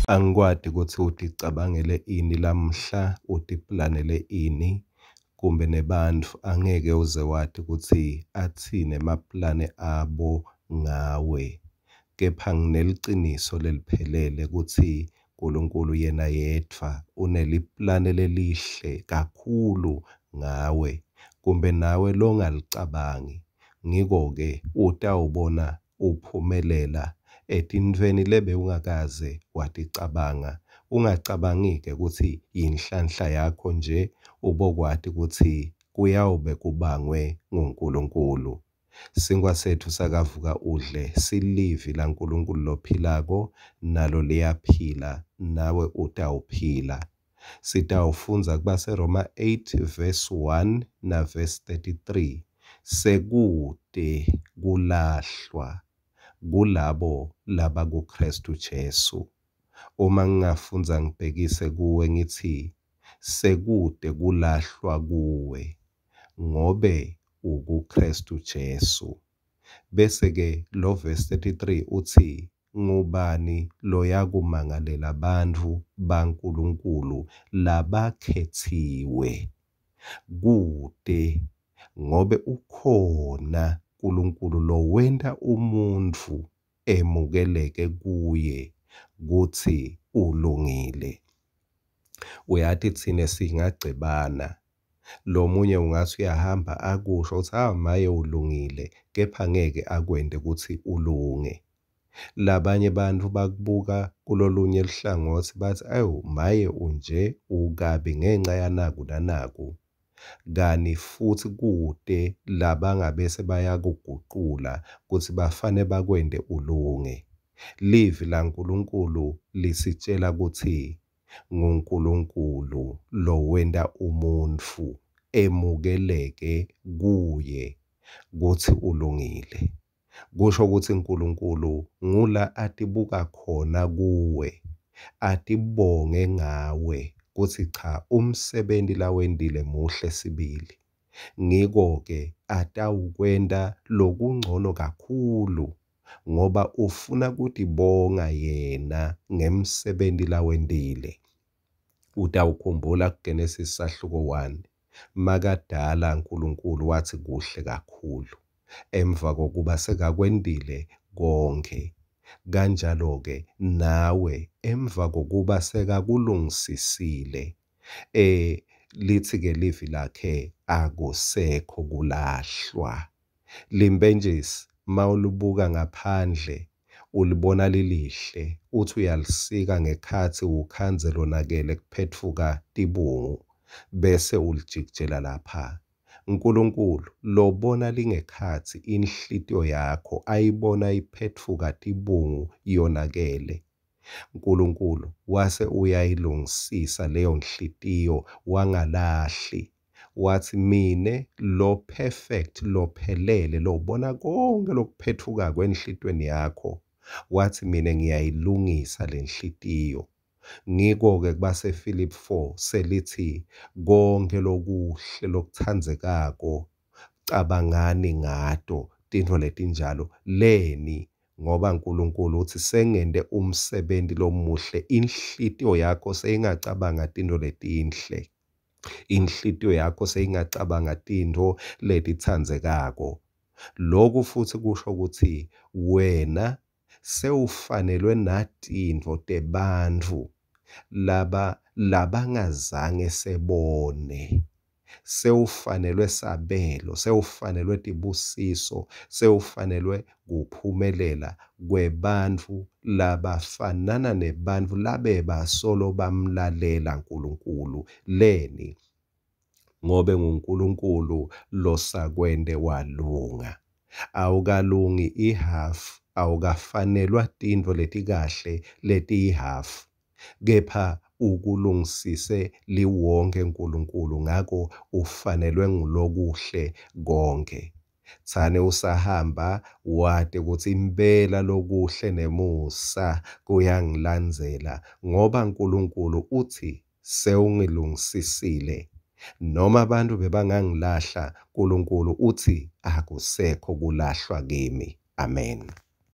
Angikwati kutsi uticabangele ini lamuhla, utiplanele ini, kumbe nebantfu angeke uze wati kutsi atsini emaplane abo ngawe. Kepha ngineliciniso leliphelele kutsi Nkulunkulu yena yedvwa uneliplane lelihle kakhulu ngawe, kumbe nawe longalicabangi. Ngiko-ke utawubona uphumelela etintfweni lebewungakaze waticabanga. Ungacabangi-ke kutsi yinhlanhla yakho nje, ubokwati kutsi kuyawube kubangwe nguNkulunkulu. Sinkhwa setfu sakavuka udle silivi laNkulunkulu lophilako, nalo liyaphila, nawe utawuphila. Sitawufundza kubaseRoma 8 verse 1 na verse 33. Sekute kulahlwa kulabo labakuKhristu Jesu. Uma ngingafundza ngibhekise kuwe ngitsi sekute kulahlwa kuwe ngobe ukuKhristu Jesu. Bese-ke lo verse 33 utsi ngubani loyakumangalela bantfu baNkulunkulu labakhetsiwe? Kute, ngobe ukhona Nkulunkulu lowenta umuntfu emukeleke kuye kutsi ulungile. Uyati tsine singagcebana, lomunye ungatsi uyahamba akusho kutsi ah maye ulungile, kepha ngeke akwente kutsi ulunge. Labanye bantfu bakubuka kulolunye luhlangotsi batsi awu maye unje ukabi ngenca yanaku nanaku, kani futsi kute labangabese bayakugucula kutsi bafane bakwente ulunge. Livi laNkulunkulu lisitjela kutsi nguNkulunkulu lowenta umuntfu emukeleke kuye kutsi ulungile. Kusho kutsi Nkulunkulu ngula atibuka khona kuwe, atibonge ngawe kutsi cha umsebenti lawentile muhle sibili. Ngiko-ke atawukwenta lokungcono kakhulu ngoba ufuna kutibonga yena ngemsebenti lawentile. Utawukhumbula kuGenesis sahluko 1 makadala Nkulunkulu watsi kuhle kakhulu emva kokuba sekakwentile konkhe. Kanjalo-ke nawe emva kokuba sekakulungisisile lithi-ke livi lakhe akusekho kulahlwa. Limpentjisi mawulibuka ngaphandle ulibona lilihle, uthi uyalisika ngekhatsi ukhandze lonakele kuphetfuka tibungu bese ulijikijela lapha. Nkulunkulu lobona lingekhatsi inhlitiyo yakho ayibona iphetfuka tibungu yonakele. Nkulunkulu wase uyayilungisisa leyo nhlitiyo wangalahli. Watsi mine lo perfect lophelele lobona konke lokuphetfukako enhlitiyweni yakho, watsi mine ngiyayilungisa lenhlitiyo. Ngiko-ke kubaseFilipi 4 selithi konke lokuhle lokutsandzekako cabangani ngato tintfo letinjalo leni ngoba Nkulunkulu utsi sengente umsebenti lomuhle inhlitiyo yakho seyingacabanga tintfo letinhle, inhlitiyo yakho seyingacabanga tintfo letitsandzekako. Loku futsi kusho kutsi wena sewufanelwe natintfo tebantfu laba labangazange sebone. Sewufanelwe sabelo, sewufanelwe tibusiso, sewufanelwe kuphumelela kwebantfu labafanana nebantfu labebasolo bamlalela Nkulunkulu. Leni? Ngobe nguNkulunkulu losakwente walunga. Awukalungi ihhafu, awukafanelwa tintfo letikahle letiyihhafu, kepha ukulungisise liwonkhe Nkulunkulu, ngako ufanelwe ngulokuhle konkhe. Tsani usahamba wati kutsi impela lokuhle nemusa kuyangilandzela, ngoba Nkulunkulu utsi sewungilungisisile. Noma abantu bebangangilahla, Nkulunkulu utsi akusekho kulahlwa kimi. Amen.